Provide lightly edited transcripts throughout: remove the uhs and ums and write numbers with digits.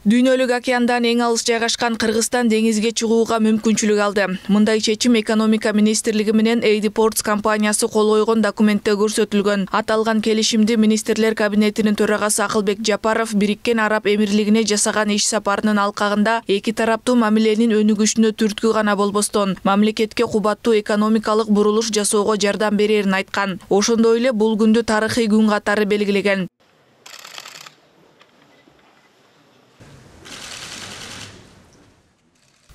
Дүйнөлүк океандан эң алыс жайгашкан Кыргызстан деңизге чыгууга мүмкүнчүлүк алды. Мындай чечим экономика министрлиги менен AD Ports компаниясы кол койгон документте көрсөтүлгөн. Аталган келишимди министрлер кабинетинин төрагасы Акылбек Жапаров Бириккен Араб Эмирлигине жасаган иш сапарынын алкагында эки тараптуу мамиленин өнүгүшүнө түрткү гана болбостон, мамлекетке кубаттуу экономикалык бурулуш жасоого жардам берерин айткан. Ошондой эле бул күндү тарыхый күн катары белгилеген.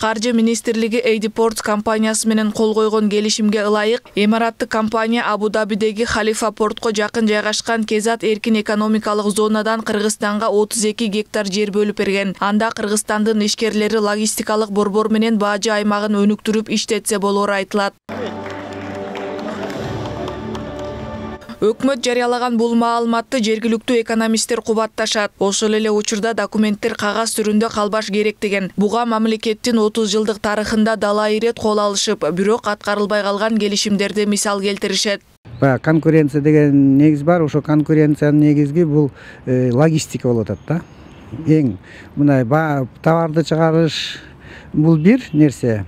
Каржы министрлиги AD Ports компаниясы менен кол койгон келишимге ылайык, Эмираттык компания Абу-Дабидеги Халифа портко жакын жайгашкан Кезат эркин экономикалык зонадан Кыргызстанга 32 гектар жер бөлүп берген. Анда Кыргызстандын ишкерлери логистикалык борбор менен баажы аймагын өнүктүрүп иштетсе болору айтылат. Өкмөт жарыялаган бул маалыматты жергиликтүү экономисттер кубатташат. Ошол эле учурда документтер кагаз түрүндө калбаш керек деген. Буга мамлекеттин 30 жылдык тарыхында далай ирет кол алышып, бирок аткарылбай калган келишимдерди мисал келтиришет. Конкуренция деген негиз бар. Ошо конкуренциянын негизги бул логистика болуп атат да. Эң мындай товарды чыгарыш бул бир нерсе,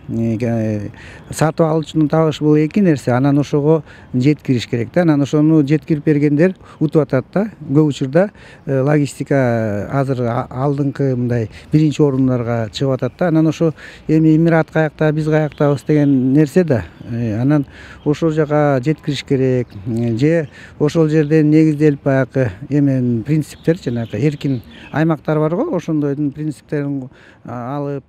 сатып алуучунун табышы бул эки нерсе. Анан ошого жеткириш керек да. Анан ошону жеткирип бергендер утуп атат да. Көп учурда логистика азыр алдыңкы мындай биринчи орундарга чыгып атат да. Анан ошо эми Эмират каякта, биз каяктабыз деген нерсе да. Анан ошол жака жеткириш керек. Же ошол жерден негизделип баягы принциптер, жанагы эркин аймактар бар го, ошондойдун принциптерин алып.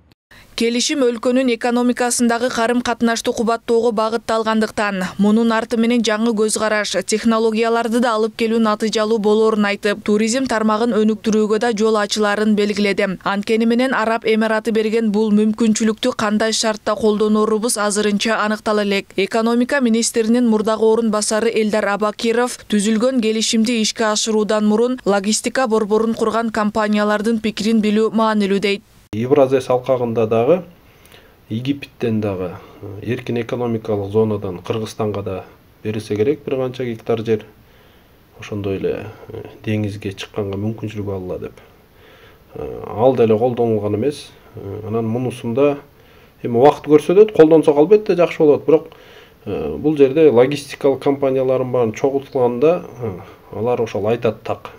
Келишим өлкөнүн экономикасындагы карым-катнаштуу кубаттоого багытталгандыктан, мунун арты менен жаңы көз караш, технологияларды да алып келүү натыйжалуу болорун айтып, туризм тармагын өнүктүрүүгө да жол ачыларын белгиледи. Анткени менен Араб Эмираты берген бул мүмкүнчүлүктү кандай шартта колдонорубуз азырынча аныктала элек. Экономика министринин мурдагы орун басары Элдар Абакиров түзүлгөн келишимди ишке ашыруудан мурун логистика борборун курган компаниялардын пикирин билүү маанилүү дейт. Евразес алкагында дагы, Египеттен дагы эркин экономикалык зонадан Кыргызстанга да берилсе керек бир канча гектар жер. Ошондой эле деңизге чыкканга мүмкүнчүлүк алыла деп. Ал деле колдонулган эмес. Анан мунусунда эми убакыт көрсөтөт, колдонсок албетте жакшы болот, бирок бул жерде логистикалык компаниялардын баарын чогултканда алар ошол айтат так.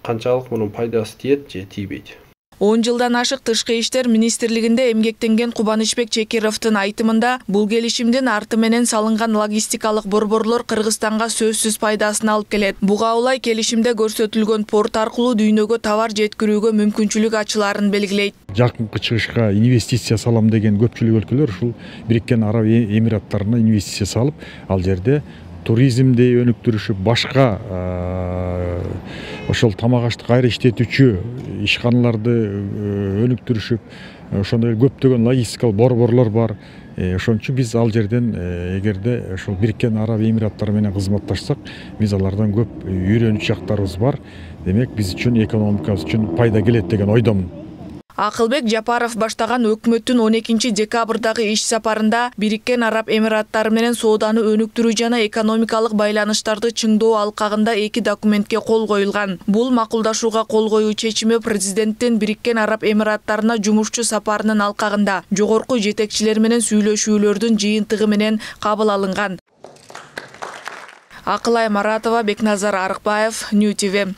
Канчалык мунун пайдасы тиет же тийбейт. 10 жылдан ашык Тышкы иштер министрлигинде эмгектенген Кубанычбек Чекировдун айтымында, бул келишимдин арты менен салынган логистикалык борборлор Кыргызстанга сөзсүз пайдасын алып келет. Буга улай келишимде көрсөтүлгөн порт аркылуу дүйнөгө товар жеткирүүгө мүмкүнчүлүк ачыларын белгилейт. Жакынкы чыгышка инвестиция салам деген көпчүлүк өлкөлөр ушул Бириккен Араб Эмираттарына инвестиция салып, ал жерде туризмди өнүктүрүшүп, башка ошол тамак аштык кайра иштетүүчү ишканаларды өнүктүрүшүп, ошондой көптөгөн логистикалык борборлор бар. Ошон үчүн биз ал жерден эгерде ошол Бириккен Араб Эмираттары менен кызматташсак, биз алардан көп үйрөнүч жактарыбыз бар. Демек, биз үчүн экономикабыз үчүн пайда келет деген ойдомун. Акылбек Жапаров баштаган өкмөттүн 12 декабрдагы иш сапарында Бириккен Араб Эмираттары менен сооданы өнүктүрүү жана экономикалык байланыштарды чыңдоо алкагында эки документке кол коюлган. Бул макулдашууга кол коюу чечими президенттин Бириккен Араб Эмираттарына жумушчу сапарынын алкагында жогорку жетекчилер менен сүйлөшүүлөрдүн жыйынтыгы менен кабыл алынган. Акылай Маратова, Бекназар Арыкбаев, Нью ТВ.